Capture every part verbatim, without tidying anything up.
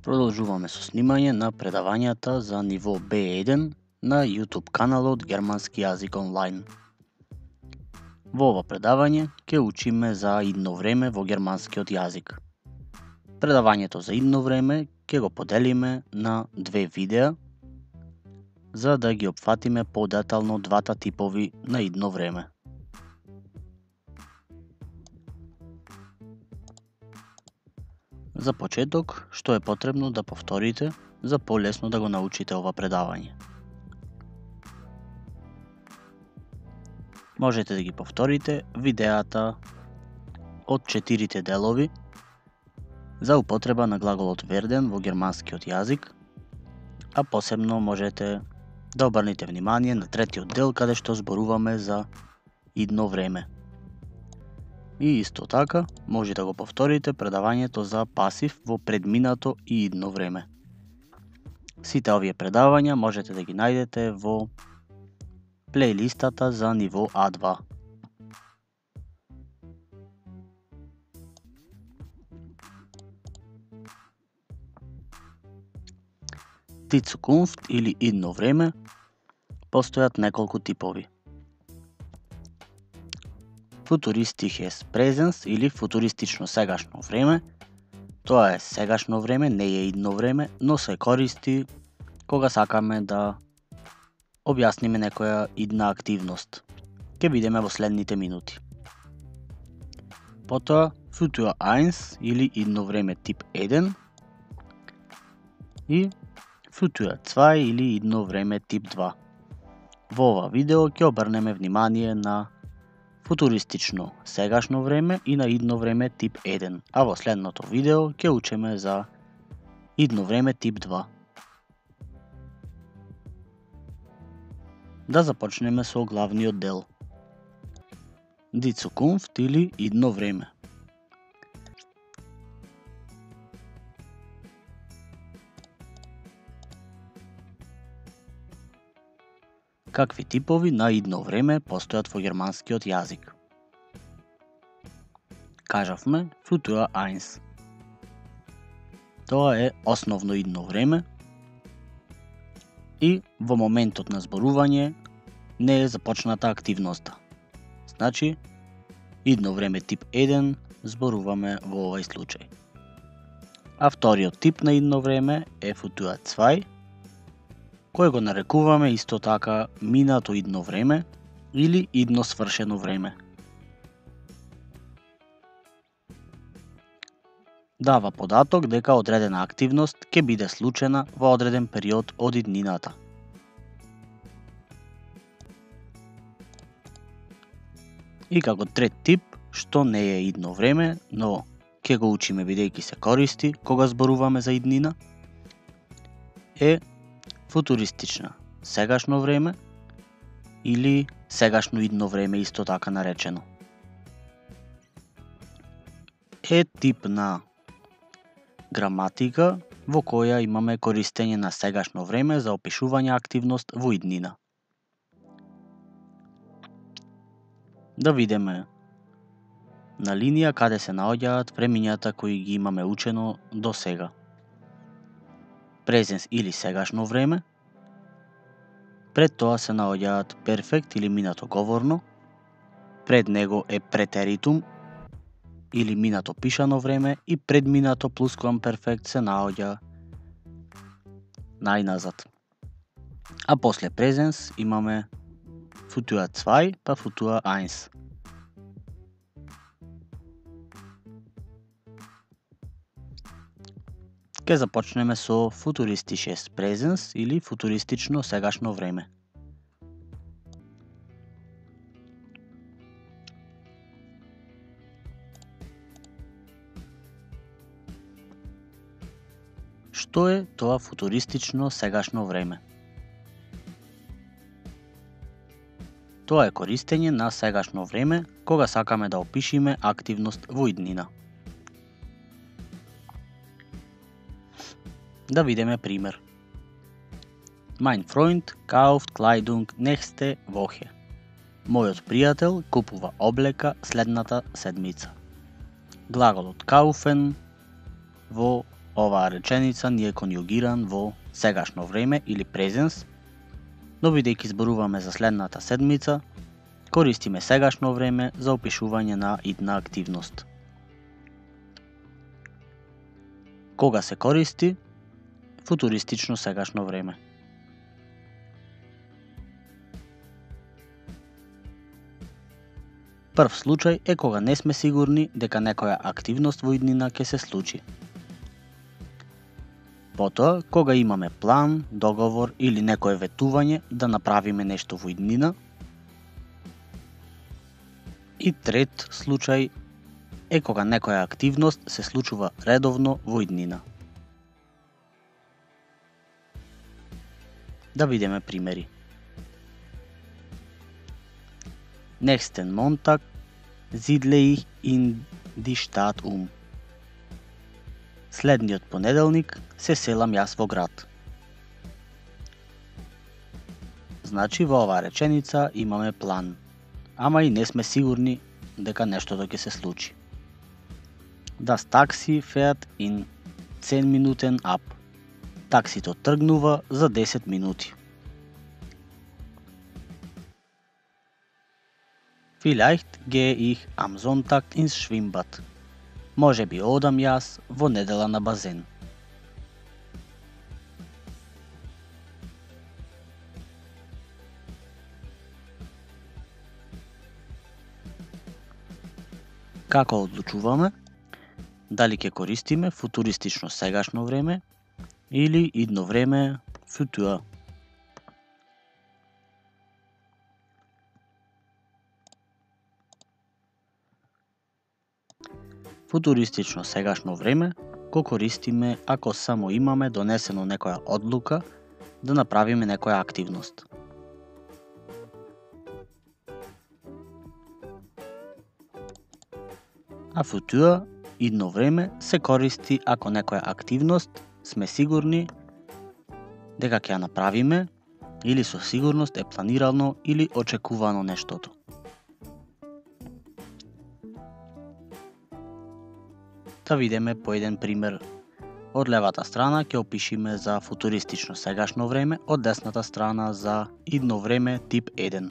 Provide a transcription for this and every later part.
Продолжуваме со снимање на предавањата за ниво Б еден на YouTube каналот Германски јазик онлайн. Во ова предавање ќе учиме за идно време во германскиот јазик. Предавањето за идно време ќе го поделиме на две видеа за да ги опфатиме подетално двата типови на идно време. За почеток, што е потребно да повторите за полесно да го научите ова предавање? Можете да ги повторите видеата од четирите делови за употреба на глаголот werden во германскиот јазик, а посебно можете да обрнете внимание на третиот дел каде што зборуваме за идно време. И исто така, може да го повторите предавањето за пасив во предминато и идно време. Сите овие предавања можете да ги најдете во плейлистата за ниво А два. Die Zukunft или идно време постојат неколку типови. Futuristisches Präsens или футуристично сегашно време. Тоа е сегашно време, не е идно време, но се користи кога сакаме да објасниме некоја идна активност. Ке видиме во следните минути. Потоа Futur еден или идно време тип еден и Futur два или идно време тип два. Во ова видео ќе обрнеме внимание на футуристично сегашно време и на идно време тип еден, а во следното видео ќе учиме за идно време тип два. Да започнеме со главниот дел. Die Zukunft или идно време. Какви типови на идно време постојат во германскиот јазик? Кажавме Futur еден. Тоа е основно идно време и во моментот на зборување не е започната активноста. Значи, идно време тип еден зборуваме во овој случај. А вториот тип на идно време е Futur два, кој го нарекуваме исто така минато идно време или идно свршено време. Дава податок дека одредена активност ќе биде случена во одреден период од иднината. И како трет тип, што не е идно време, но ќе го учиме бидејќи се користи кога зборуваме за иднина, е футуристична сегашно време или сегашно идно време исто така наречено. Е тип на граматика во која имаме користење на сегашно време за опишување активност во иднина. Да видиме на линија каде се наоѓаат времињата кои ги имаме учено до сега. Презенс или сегашно време, пред тоа се наоѓаат перфект или минато говорно, пред него е претеритум или минато пишано време и пред минато плусквамперфект се наоѓа најназад. А после презенс имаме Futur два па Futur еден. Ке започнеме со Futuristisches Präsens или футуристично сегашно време. Што е тоа футуристично сегашно време? Тоа е користење на сегашно време кога сакаме да опишиме активност во иднина. Да видиме пример. Mein Freund kauft Kleidung nächste Woche. Мојот пријател купува облека следната седмица. Глаголот kaufen во оваа реченица ни е конјугиран во сегашно време или презенс, но бидејќи зборуваме за следната седмица, користиме сегашно време за опишување на идна активност. Кога се користи футуристично сегашно време? Прв случај е кога не сме сигурни дека некоја активност во иднина ќе се случи. Потоа, кога имаме план, договор или некое ветување да направиме нешто во иднина. И трет случај е кога некоја активност се случува редовно во иднина. Да видиме примери. Nächsten Montag siedle ich in die Stadt um. Следниот понеделник се селам јас во град. Значи во оваа реченица имаме план, ама и не сме сигурни дека нештото ќе се случи. Das Taxi fährt in zehn Minuten ab. Таксито тргнува за десет минути. Vielleicht gehe ich am Sonntag ins Schwimmbad. Може би одам јас во недела на базен. Како одлучуваме дали ќе користиме футуристично сегашно време или идно време futur? Футуристично сегашно време го користиме ако само имаме донесено некоја одлука да направиме некоја активност. А futur, идно време, се користи ако некоја активност сме сигурни дека ќе ја направиме или со сигурност е планирано или очекувано нештото. Да видиме по еден пример. Од левата страна ќе опишиме за футуристично сегашно време, од десната страна за идно време тип еден.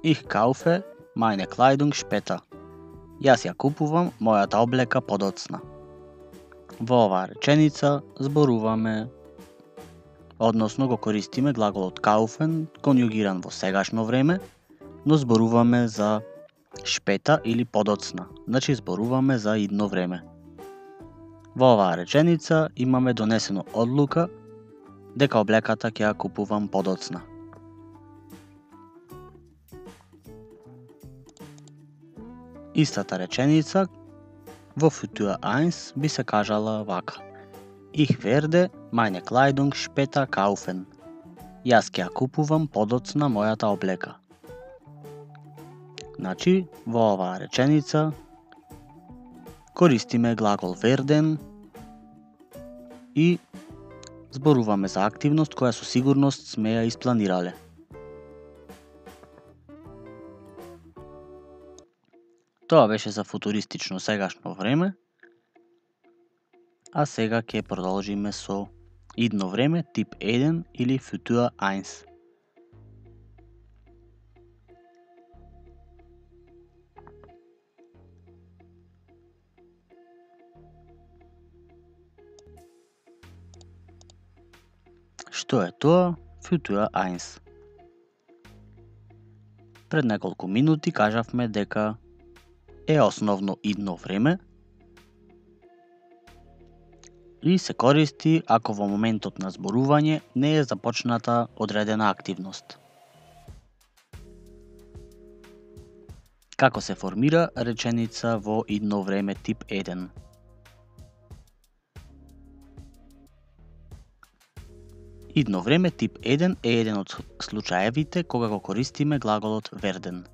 Ich kaufe meine Kleidung später. Јас ја купувам мојата облека подоцна. Во оваа реченица зборуваме, односно го користиме глаголот kaufen, конјугиран во сегашно време, но зборуваме за шпета или подоцна, значи зборуваме за идно време. Во оваа реченица имаме донесено одлука дека облеката ќе ја купувам подоцна. Истата реченица во futur eins би се кажала вака. Ich werde meine Kleidung später kaufen. Јас ќе ја купувам подоцна мојата облека. Значи, во оваа реченица користиме глагол werden и зборуваме за активност која со сигурност сме ја испланирале. Тоа беше за футуристично сегашно време, а сега ќе продолжиме со идно време тип еден или futur eins. Што е тоа futur eins? Пред неколку минути кажавме дека е основно идно време и се користи ако во моментот на зборување не е започната одредена активност. Како се формира реченица во идно време тип еден? Идно време тип еден е еден од случаевите кога го користиме глаголот werden.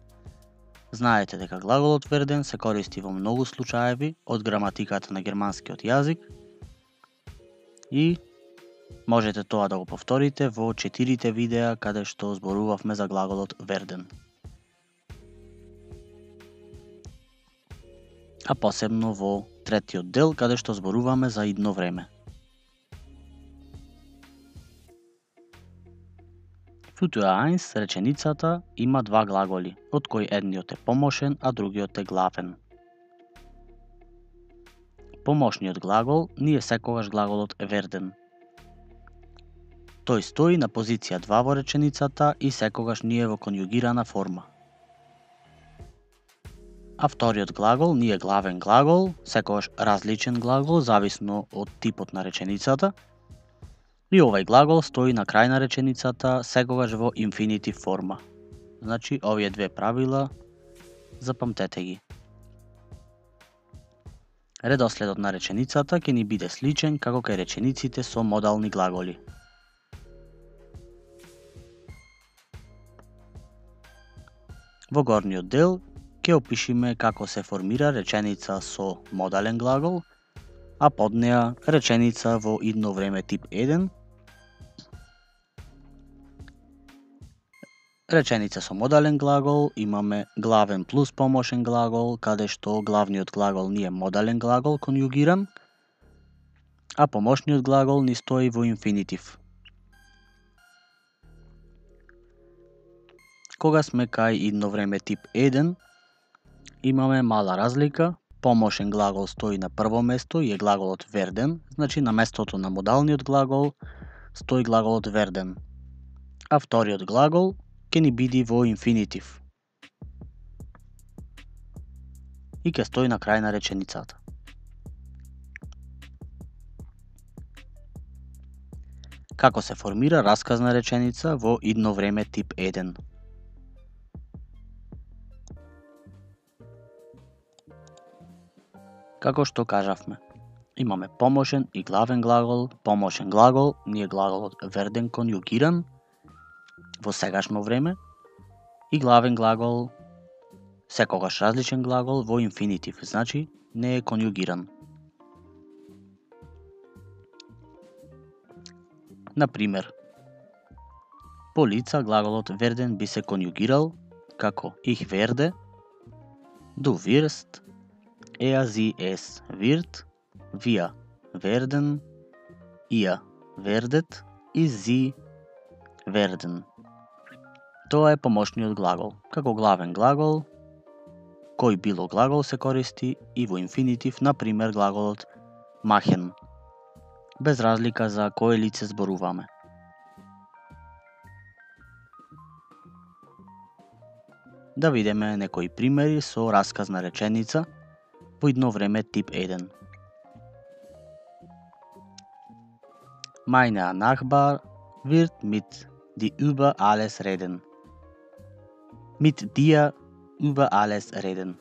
Знаете дека глаголот werden се користи во многу случаеви од граматиката на германскиот јазик и можете тоа да го повторите во четирите видеа каде што зборувавме за глаголот werden. а посебно во третиот дел каде што зборуваме за идно време. Футуа eins реченицата има два глаголи, од кои едниот е помошен, а другиот е главен. Помошниот глагол ни е секогаш глаголот werden. Тој стои на позиција два во реченицата и секогаш ни е во конјугирана форма. А вториот глагол ни е главен глагол, секогаш различен глагол зависно од типот на реченицата. И овој глагол стои на крај на реченицата секогаш во инфинитив форма. Значи, овие две правила запамтете ги. Редоследот на реченицата ќе ни биде сличен како кај речениците со модални глаголи. Во горниот дел ќе опишиме како се формира реченица со модален глагол, а под неа реченица во идно време тип еден, реченица со модален глагол имаме главен плюс помошен глагол, каде што главниот глагол ни е модален глагол конјугиран, а помошниот глагол ни стои во инфинитив. Кога сме кај идно време тип еден, имаме мала разлика. Помошен глагол стои на прво место и е глаголот werden, значи на местото на модалниот глагол стои глаголот werden. А вториот глагол ќе ни биде во инфинитив и ќе стои на крај на реченицата. Како се формира расказна реченица во идно време тип еден? Како што кажавме, имаме помошен и главен глагол. Помошен глагол ни е глаголот werden конјугиран во сегашно време и главен глагол секогаш различен глагол во инфинитив, значи не е конјугиран. Например, по лица глаголот werden би се конјугирал како ich werde, du wirst, er sie es wird, wir werden, ihr werdet и sie werden. Тоа е помошниот глагол. Како главен глагол, кој било глагол се користи и во инфинитив, например глаголот machen, без разлика за кое лице зборуваме. Да видиме некои примери со расказна реченица во идно време тип еден. Meine Nachbar wird mit dir über alles reden. Mit dir über alles reden.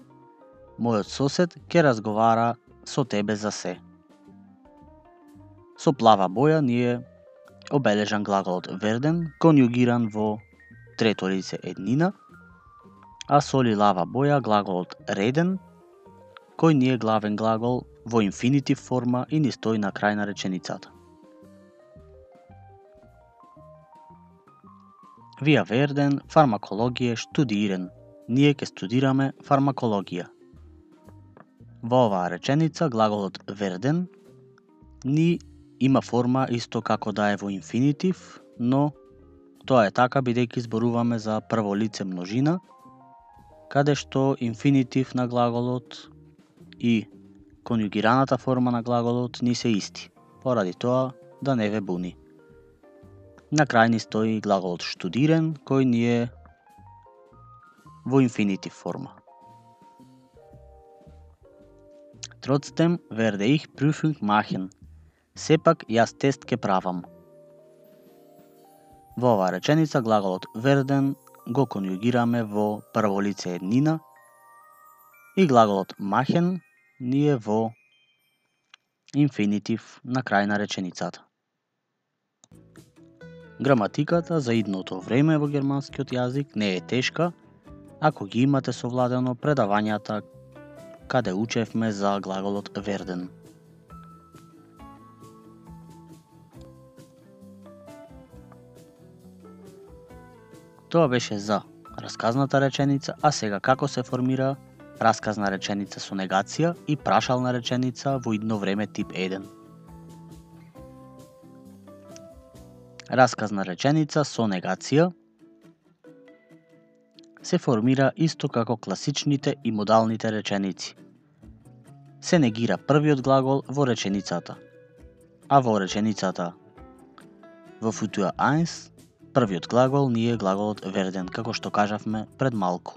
Мојот сосед ќе разговара со тебе за се. Со плава боја ни е обележан глаголот werden, конјугиран во трето лице еднина, а со лилава боја глаголот reden, кој ни е главен глагол во инфинитив форма и ни стои на крај на реченицата. Wir werden Pharmakologie studieren. Ние ќе студираме фармакологија. Во оваа реченица глаголот werden ни има форма исто како да е во инфинитив, но тоа е така бидејќи зборуваме за прво лице множина, каде што инфинитив на глаголот и конјугираната форма на глаголот ни се исти, поради тоа да не ве буни. На крај ни стои глаголот studieren, кој ни е во инфинитив форма. Trotzdem werde ich Prüfung machen. Сепак јас тест ке правам. Во оваа реченица глаголот werden го конјугираме во прво лице еднина и глаголот machen ни е во инфинитив на крај на реченицата. Граматиката за идното време во германскиот јазик не е тешка, ако ги имате совладено предавањата каде учевме за глаголот werden. Тоа беше за расказната реченица, а сега како се формира расказна реченица со негација и прашална реченица во идно време тип еден. Расказна реченица со негација се формира исто како класичните и модалните реченици. Се негира првиот глагол во реченицата, а во реченицата во Futur еден првиот глагол ни е глаголот werden, како што кажавме пред малку.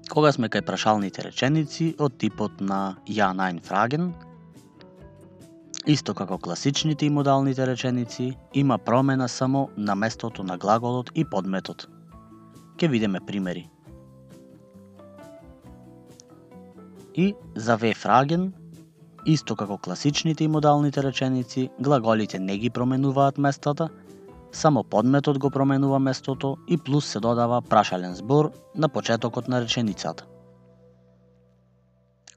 Кога сме кај прашалните реченици од типот на ja, nein, fragen, исто како класичните и модалните реченици, има промена само на местото на глаголот и подметот. Ке видиме примери. И за we fragen, исто како класичните и модалните реченици, глаголите не ги променуваат местата, само подметот го променува местото и плюс се додава прашален збор на почетокот на реченицата.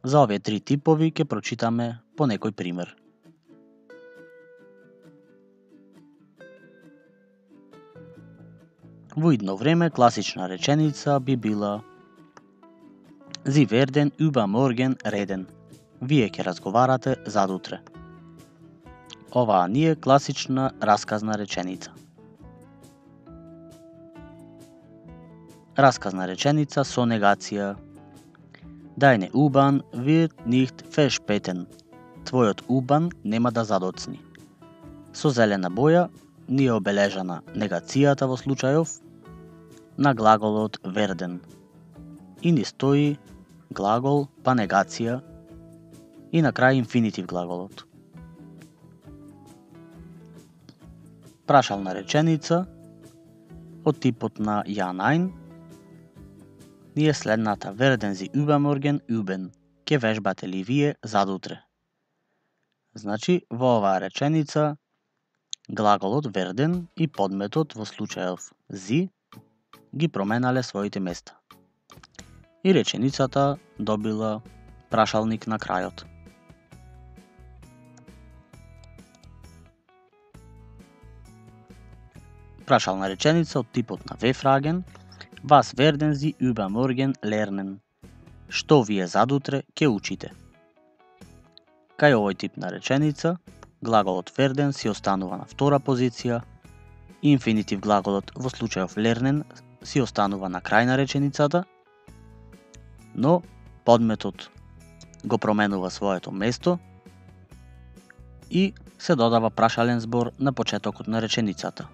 За овие три типови ќе прочитаме по некој пример. Во идно време класична реченица би била Sie werden übermorgen reden. Вие ќе разговарате задутре. Оваа ни е класична расказна реченица. Расказна реченица со негација. Deine U-Bahn wird nicht verspäten. Твојот U-Bahn нема да задоцни. Со зелена боја ни е обележана негацијата во случајов на глаголот werden. И ни стои глагол па негација и на крај инфинитив глаголот. Прашална реченица од типот на ja, nein ни е следната: werden Sie übermorgen üben? Ке вежбате ли вие задутре? Значи, во оваа реченица глаголот werden и подметот во случајов Sie ги променале своите места. И реченицата добила прашалник на крајот. Прашална реченица од типот на we fragen, was werden Sie übermorgen lernen? Што вие задутре ќе учите? Кај овој тип на реченица, глаголот werden си останува на втора позиција, инфинитив глаголот во случајов lernen си останува на крај на реченицата, но подметот го променува своето место и се додава прашален збор на почетокот на реченицата.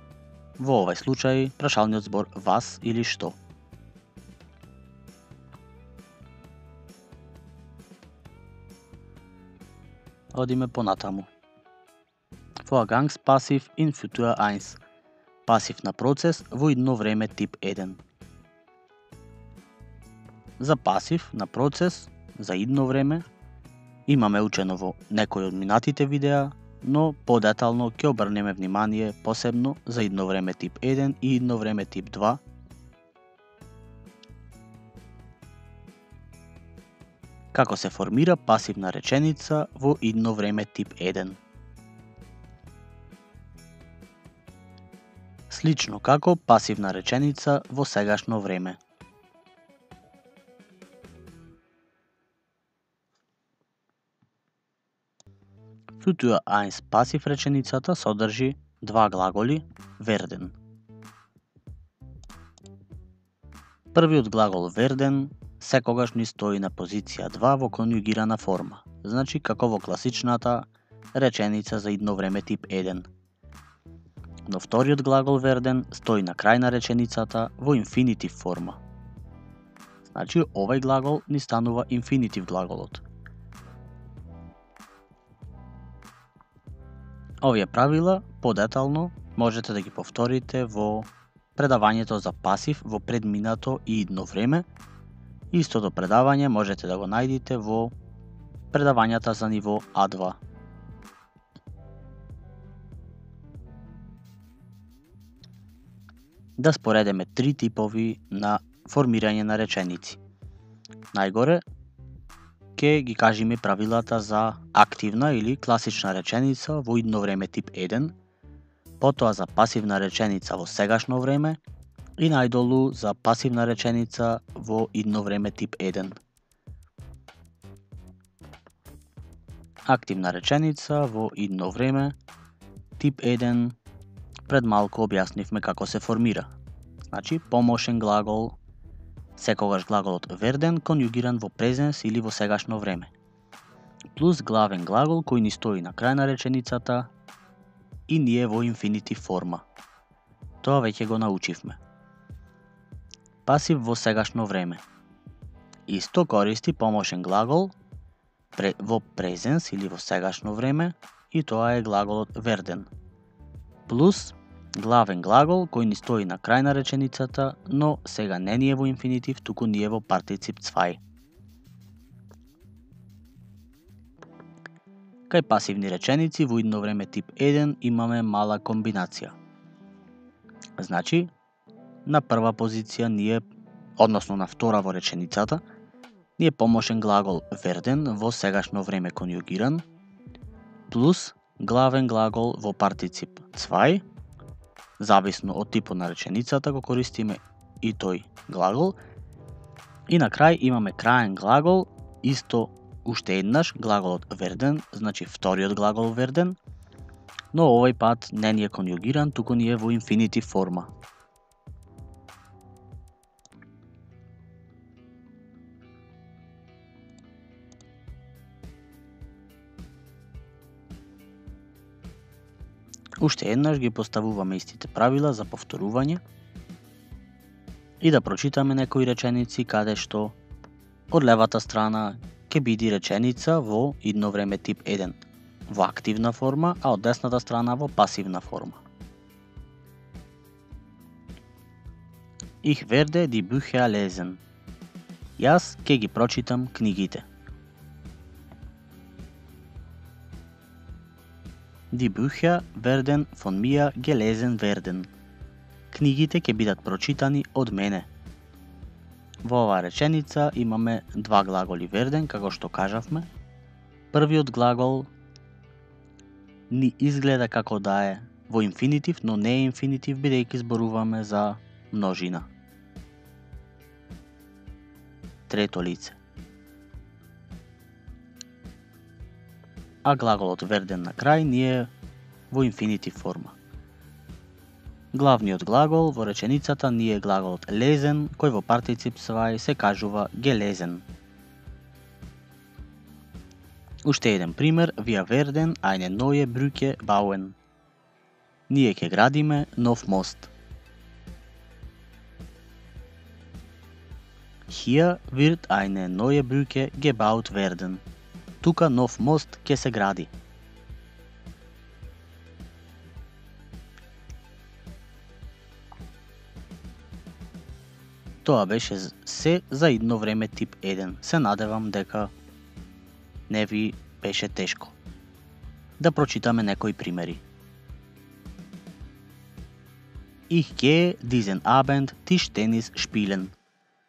Во овој случај прашалниот збор was или што. Одиме понатаму. Vorgangspassiv in Futur еден. Пасив на процес во идно време тип еден. За пасив на процес за идно време имаме учено во некои од минатите видеа, но подетално ќе обрнеме внимание посебно за идно време тип еден и идно време тип два. Како се формира пасивна реченица во идно време тип еден. Слично како пасивна реченица во сегашно време. Futur еден пасив реченицата содржи два глаголи werden. Првиот глагол werden секогаш ни стои на позиција два во конјугирана форма, значи како во класичната реченица за идно време тип еден. Но вториот глагол werden стои на крај на реченицата во инфинитив форма. Значи овој глагол ни станува инфинитив глаголот. Овие правила подетално можете да ги повторите во предавањето за пасив во предминато и идно време. Истото предавање можете да го најдете во предавањата за ниво а два. Да споредиме три типови на формирање на реченици. Најгоре ќе ги кажеме правилата за активна или класична реченица во идно време тип еден, потоа за пасивна реченица во сегашно време И најдолу за пасивна реченица во идно време тип еден. Активна реченица во идно време тип еден. Пред малку објаснивме како се формира. Значи, помошен глагол, секогаш глаголот верден конјугиран во презенс или во сегашно време. Плюс главен глагол кој ни стои на крај на реченицата и ние во инфинитив форма. Тоа веќе го научивме. Пасив во сегашно време. Исто користи помошен глагол во презенс или во сегашно време и тоа е глаголот верден. Плюс главен глагол кој ни стои на крај на реченицата, но сега не ни е во инфинитив, туку ни е во партицип цвај. Кај пасивни реченици во идно време тип еден имаме мала комбинација. Значи, на прва позиција ние, односно на втора во реченицата, ни е помошен глагол верден во сегашно време конјугиран, плюс главен глагол во партицип цвај, зависно од типот на реченицата го користиме и тој глагол. И на крај имаме краен глагол, исто уште еднаш глаголот верден, значи вториот глагол верден, но овој пат не ни е конјугиран, туку ни е во инфинитив форма. Уште еднаш ги поставуваме истите правила за повторување и да прочитаме некои реченици каде што од левата страна ќе биде реченица во идно време тип еден во активна форма, а од десната страна во пасивна форма. Ich werde die Bücher lesen. Јас ќе ги прочитам книгите. Die Bücher werden von mir gelesen werden. Книгите ќе бидат прочитани од мене. Во оваа реченица имаме два глаголи верден, како што кажавме. Првиот глагол ни изгледа како да е во инфинитив, но не е инфинитив, бидејќи зборуваме за множина. Трето лице. А глаголот верден на крај ни е во инфинитив форма. Главниот глагол во реченицата ни е глаголот lesen, кој во партицип цвај се кажува gelesen. Уште еден пример, wir werden eine neue Brücke bauen. Ние ќе градиме нов мост. Hier wird eine neue Brücke gebaut werden. Тука нов мост ќе се гради. Тоа беше се за идно време тип еден. Се надевам дека не ви беше тешко. Да прочитаме некои примери. Ich gehe diesen Abend Tischtennis spielen.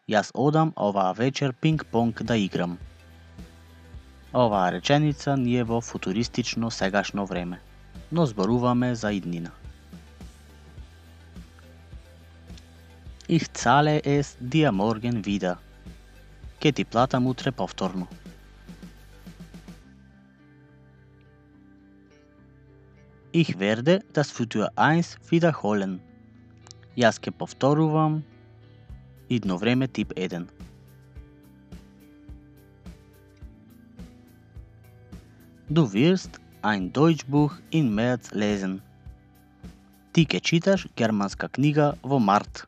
Јас одам оваа вечер пинг-понг да играм. Оваа реченица ни е во футуристично сегашно време, но зборуваме за иднина. Ich zahle es dir morgen wieder. Ке ти платам утре повторно. Ich werde das Futur eins wiederholen. Јас ке повторувам идно време тип еден. Du wirst ein Deutschbuch in März lesen. Ти ке читаш германска книга во март.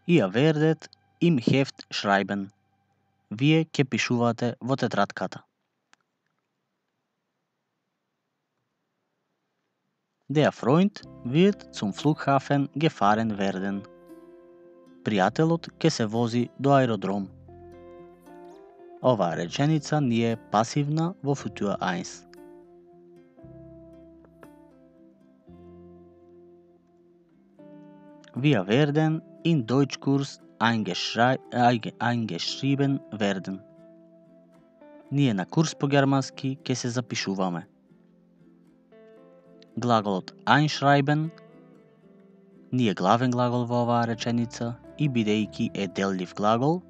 Ihr werdet im Heft schreiben. Вие ке пишувате во тетратката. Der Freund wird zum Flughafen gefahren werden. Пријателот ке се вози до аеродром. Оваа реченица ни е пасивна во Futur eins. Wir werden in Deutschkurs eingeschrieben werden. Ние на курс по германски ке се запишуваме. глаголот einschreiben не е главен глагол во оваа реченица и бидејќи е деллив глагол,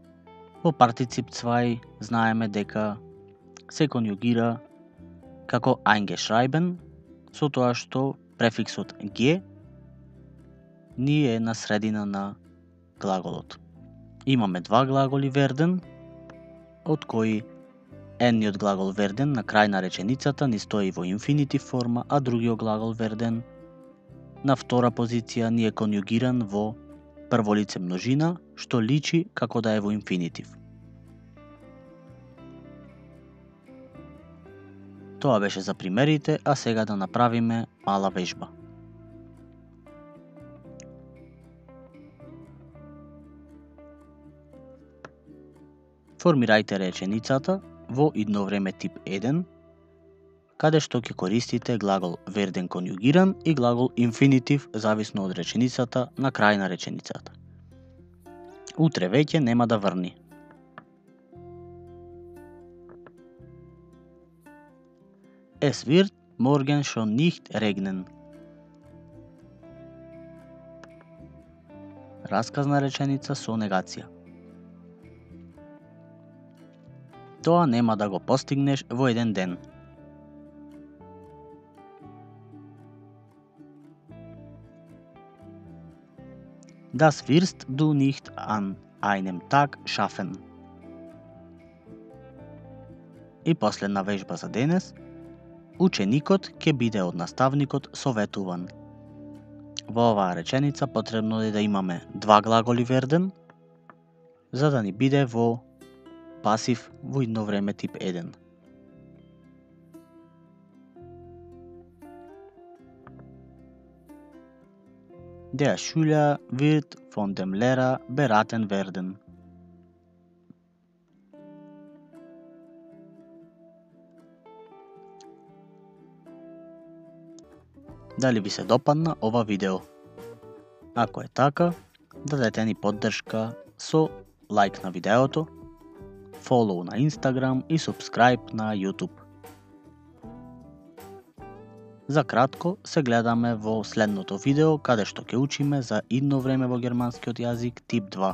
во партицип zwei знаеме дека се конјугира како eingeschrieben, со тоа што префиксот ge ни е на средина на глаголот. Имаме два глаголи werden, од кои едниот глагол werden на крај на реченицата ни стои во инфинитив форма, а другиот глагол werden на втора позиција ни е конјугиран во прво лице множина, што личи како да е во инфинитив. Тоа беше за примерите, а сега да направиме мала вежба. Формирајте реченицата во идно време тип еден, каде што ќе користите глагол werden конјугиран и глагол инфинитив зависно од реченицата на крај на реченицата. Утре веќе нема да врни. Es wird morgen schon nicht regnen. Расказна реченица со негација. Тоа нема да го постигнеш во еден ден. Das wirst du nicht an einem Tag schaffen. И последна вежба за денес. Ученикот ќе биде од наставникот советуван. Во оваа реченица потребно е да имаме два глаголи werden, за да ни биде во пасив во идно време тип еден. Der Schüler wird von dem Lehrer beraten werden. Дали ви се допадна ова видео? Ако е така, дадете ни поддршка со лайк на видеото, фолоу на Instagram и subscribe на YouTube. За кратко се гледаме во следното видео, каде што ќе учиме за идно време во германскиот јазик тип два.